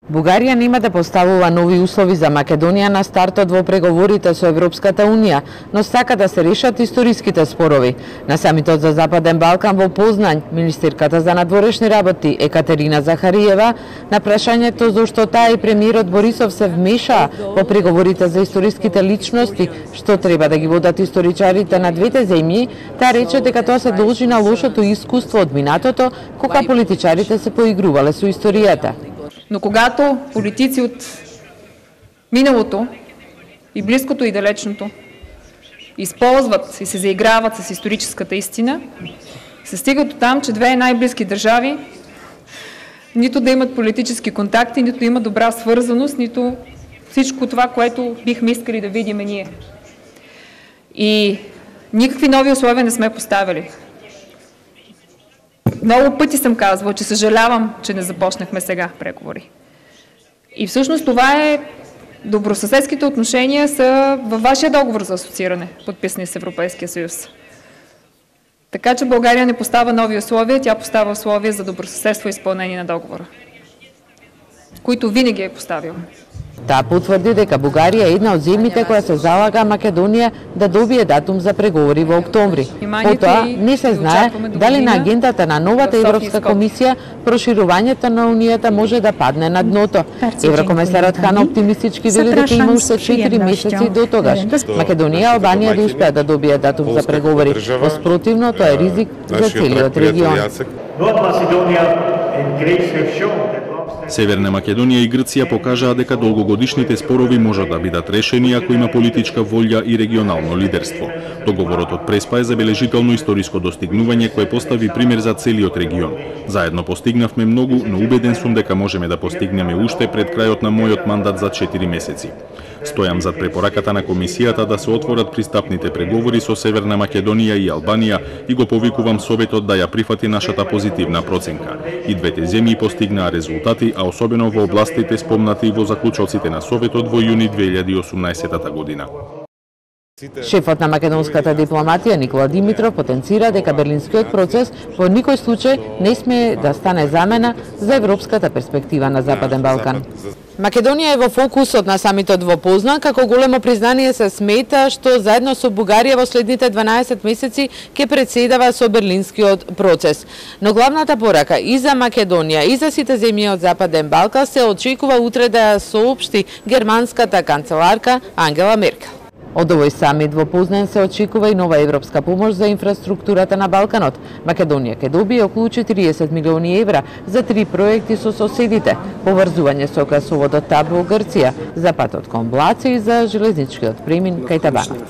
Бугарија нема да поставува нови услови за Македонија на стартот во преговорите со Европската Унија, но сака да се решат историските спорови. На самитот за Западен Балкан во Познањ, министерката за надворешни работи Екатерина Захариева на прашањето зошто таа и премиерот Борисов се вмешаа во преговорите за историските личности, што треба да ги водат историчарите на двете земји, таа рече дека тоа се должи на лошото искуство од минатото, кога политичарите се поигрувале со историјата. Но когато политици от миналото и близкото и далечното използват и се заиграват с историческата истина, се стига до там, че две най-близки държави нито да имат политически контакти, нито да имат добра свързаност, нито всичко това, което бихме искали да видим ние. И никакви нови условия не сме поставили. Много пъти съм казвала, че съжалявам, че не започнахме сега преговори. И всъщност това е добросъседските отношения са във вашия договор за асоцииране, подписани с Европейския съюз. Така че България не поставя нови условия, тя поставя условия за добросъседство и изпълнение на договора, които винаги е поставила. Таа потврди дека Бугарија е една од земјите која се залага Македонија да добие датум за преговори во октомври. Потоа не се знае дали на агендата на новата Европска комисија проширувањето на Унијата може да падне на дното. Еврокомесарот Хан оптимистички вели дека има уште 4 месеци до тогаш Македонија и Албанија да успеат да добијат датум за преговори. Во спротивно, тоа е ризик за целиот регион. Северна Македонија и Грција покажаа дека долгогодишните спорови можат да бидат решени ако има политичка волја и регионално лидерство. Договорот од Преспа е забележително историско достигнување кое постави пример за целиот регион. Заедно постигнавме многу, но убеден сум дека можеме да постигнеме уште пред крајот на мојот мандат за 4 месеци. Стојам зад препораката на комисијата да се отворат пристапните преговори со Северна Македонија и Албанија и го повикувам Советот да ја прифати нашата позитивна проценка. И двете земји постигнаа резултати, а особено во областите спомнати во заклучоците на Советот во јуни 2018 година. Шефот на македонската дипломатија Никола Димитров потенцира дека берлинскиот процес во никој случај не сме да стане замена за европската перспектива на Западен Балкан. Македонија е во фокусот на самитот во Познањ, како големо признание се смета што заедно со Бугарија во следните 12 месеци ќе председава со берлинскиот процес. Но главната порака и за Македонија и за сите земји од Западен Балкан се очекува утре да ја соопшти германската канцеларка Ангела Меркел. Од овој самит во Познањ се очекува и нова европска помош за инфраструктурата на Балканот. Македонија ќе добие околу 40 милиони евра за 3 проекти со соседите: поврзување со гасоводот ТАП во Грција, за патот кон Блаце и за железничкиот премин кај Табанот.